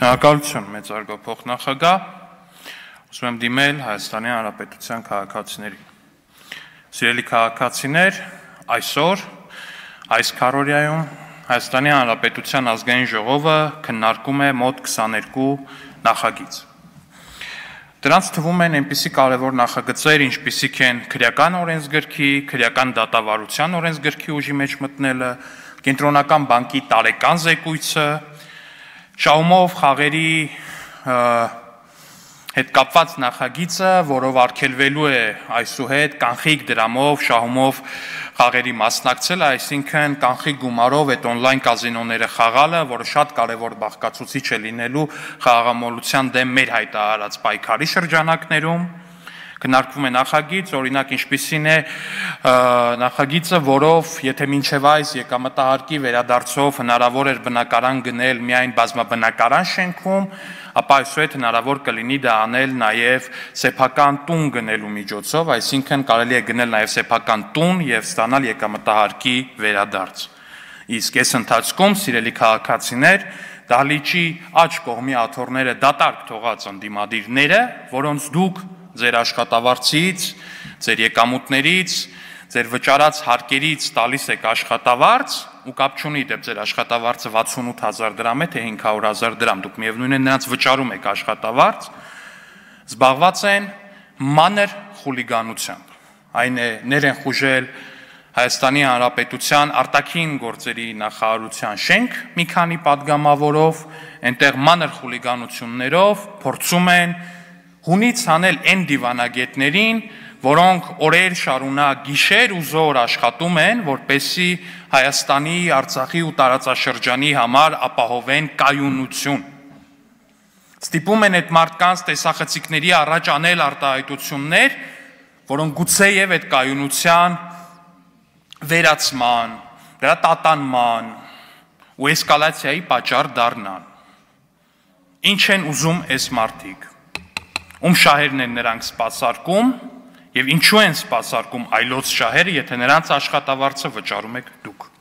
Շնորհակալություն մեծարգո փոխնախագահ, ուզում եմ դիմել Հայաստանի Հանրապետության քաղաքացիներին։ Սիրելի քաղաքացիներ, այսօր այս քառօրյայում Հայաստանի Հանրապետության ազգային ժողովը քննարկում է մոտ 22 նախագիծ։ Դրանց թվում են այնպիսի կարևոր նախագծեր, ինչպիսիք են քրեական օրենսգրքի, քրեական դատավարության օրենսգրքի ուժի մեջ մտնելը, Կենտրոնական բանկի տարեկան զեկույցը, շահումով խաղերի հետ կապված նախագիծը, որով արգելվելու է այսուհետ կանխիկ դրամով, շահումով խաղերի մասնակցելը, այսինքն կանխիկ գումարով այդ on-line կազինոները խաղալը, որը շատ կարևոր բաղկացուցիչ է լինելու խաղաղամոլության դեմ մեր հայտարարած պայքարի շրջանակներում։ Քննարկվում է նախագիծ, օրինակ ինչպիսին է նախագիծը, որով եթե մինչև այս եկամտահարկի վերադարձով հնարավոր էր բնակարան գնել միայն բազմաբնակարան շենքում, ապա այսուհետ հնարավոր կլինի դա անել նաև սեփական տուն գնելու միջոցով, այսինքն կարելի է գնել նաև սեփական տուն եւ ստանալ եկամտահարկի վերադարձ։ Իսկ այս ընթացքում, սիրելի քաղաքացիներ, դահլիճի աջ կողմի աթոռները դատարկ թողած ընդդիմադիրները, որոնց դուք ձեր աշխատավարձից, ձեր եկամուտներից, ձեր վճարած հարկերից տալիս եք աշխատավարձ ու կապ չունի դեպ ձեր աշխատավարձը 68,000 դրամ է, թե 500,000 դրամ, դուք միևնույն է նրանց վճարում եք աշխատավարձ, զբաղված են մանր խուլիգանությամբ, այն է ներեն խուժել Հայաստանի Հանրապետության արտաքին գործերի նախարարության շենք մի քանի պատգամավորով, այնտեղ մանր խուլիգանություններով փորձում են հունից հանել այն դիվանագետներին, որոնք օրեր շարունակ գիշեր ու զօր աշխատում են, որպեսզի Հայաստանի, Արցախի ու տարածաշրջանի համար ապահովեն կայունություն։ Ստիպում են այդ մարդկանց տեսախցիկների առաջ անել արտահայտություններ, որոնք գուցեև այդ կայունության վերացման, դրա տատանման ու էսկալացիայի պատճառ դառնան։ Ինչ են ուզում այս մարդիկ, ում շահերն են նրանք սպասարկում եւ ինչու են սպասարկում այլոց շահերը, եթե նրանց աշխատավարձը վճարում եք դուք։